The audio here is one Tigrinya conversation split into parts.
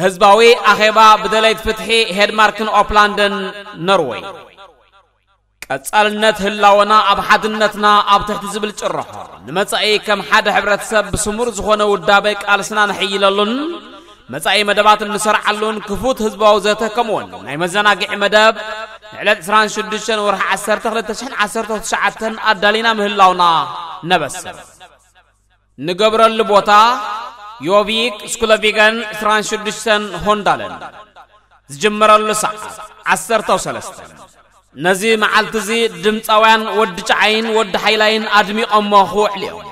ህዝባዊ ኣኼባ ብደለይት ፍትሒ ሄድማርክን ኦፕላንድን ኖርወይ። ቀጻልነት ህላወና ኣብ ሓድነትና ኣብ ትሕቲ ዝብል ጭርሖ፣ ንመጻኢ ከም ሓደ ሕብረተሰብ ብስሙር ዝኾነ ውዳበ ቃልስና ነሕይለሉን መጻኢ መደባት እንሰርዓሉን ክፉት ህዝባዊ ዘተ፣ ከምኡውን ናይ መዘናግዒ መደብ ንዕለት ዕስራን ሽዱሽተን ወርሒ ዓሰርተ ክልተ ሽሕን ዓሰርተ ትሽዓተን ኣዳሊና ምህላውና ነበስር። ንገብረሉ ቦታ ዮቪክ ስኩለቪገን ዕስራን ሽዱሽተን ሆንዳለን። ዝጅመረሉ ሰዓት ዓሰርተ ሰለስተ። ነዚ መዓልቲ እዚ ድምፃውያን ወዲ ጨዓይን ወዲ ሓይላይን ኣድሚቖሞ ክውዕል እዮም።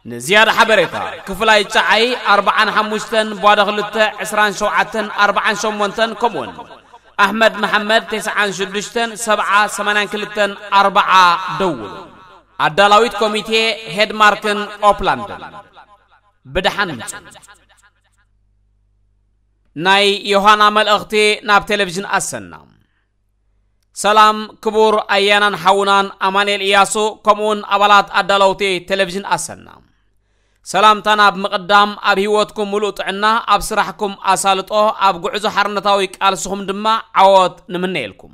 ንዝያዳ ሓበሬታ ክፍላይ ጨዓይ ኣርብዓን ሓሙሽተን ባዶ ክልተ ዕስራን ሸውዓተን ኣርብዓን ሸሞንተን፣ ከምኡውን ኣሕመድ መሓመድ ተስዓን ሽዱሽተን ሰብዓ ሰማንያን ክልተን ኣርብዓ ደውሉ። ኣዳላዊት ኮሚቴ ሄድማርክን ኦፕላንድን። ብደሓን ምጹ። ናይ ዮሃና መልእኽቲ ናብ ቴሌቪዥን ኣሰና። ሰላም ክቡር ኣያናን ሓውናን ኣማኑኤል እያሱ፣ ከምኡውን ኣባላት ኣዳለውቲ ቴሌቪዥን ኣሰና። ሰላምታና ብምቕዳም ኣብ ህይወትኩም ምሉእ ጥዕና፣ ኣብ ስራሕኩም ኣሳልጦ፣ ኣብ ጉዕዞ ሓርነታዊ ቃልስኹም ድማ ዓወት ንምነየልኩም።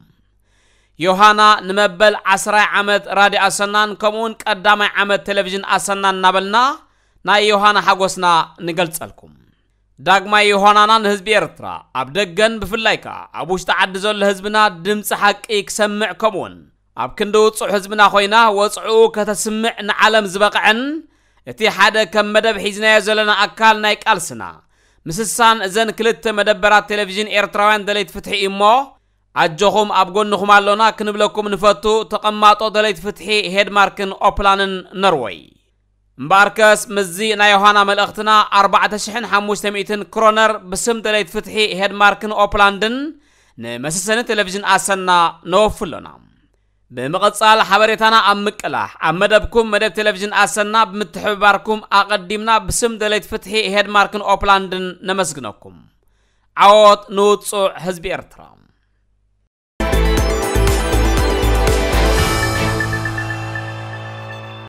ዮሃና ንመበል ዓስራይ ዓመት ራድዮ ኣሰናን ከምኡውን ቀዳማይ ዓመት ቴሌቪዥን ኣሰናን እናበልና ናይ ዮሃና ሓጎስና ንገልጸልኩም። ዳግማይ ዮሃናና ንህዝቢ ኤርትራ ኣብ ደገን ብፍላይ ከኣ ኣብ ውሽጢ ዓዲ ዘሎ ህዝብና ድምጺ ሓቂ ክሰምዕ፣ ከምኡውን ኣብ ክንዲ ውጹዕ ህዝብና ኮይና ወጽዕኡ ከተስምዕ ንዓለም ዝበቕዐን፣ እቲ ሓደ ከም መደብ ሒዝናዮ ዘለና ኣካል ናይ ቃልስና ምስሳን እዘን ክልተ መደበራት ቴሌቪዥን ኤርትራውያን ደለይቲ ፍትሒ እዩ እሞ፣ ኣጆኹም ኣብ ጎንኹም ኣሎና ክንብለኩም ንፈቱ። ተቐማጦ ደለይቲ ፍትሒ ሄድማርክን ኦፕላንን ኖርወይ። እምበኣርከስ ምስዚ ናይ ዮሃና መልእኽትና ኣርባዕተ ሽሕን ሓሙሽተ ሚእትን ክሮነር ብስም ደለይቲ ፍትሒ ሄድማርክን ኦፕላንድን ንመሰሰኒ ቴሌቪዥን ኣሰና ነወፍሎና። ብምቕጻል ሓበሬታና ኣብ ምቅላሕ ኣብ መደብኩም መደብ ቴሌቪዥን ኣሰና ብምትሕብባርኩም ኣቐዲምና ብስም ደለይቲ ፍትሒ ሄድማርክን ኦፕላንድን ነመስግነኩም። ዓወት ንውጹዕ ህዝቢ ኤርትራ።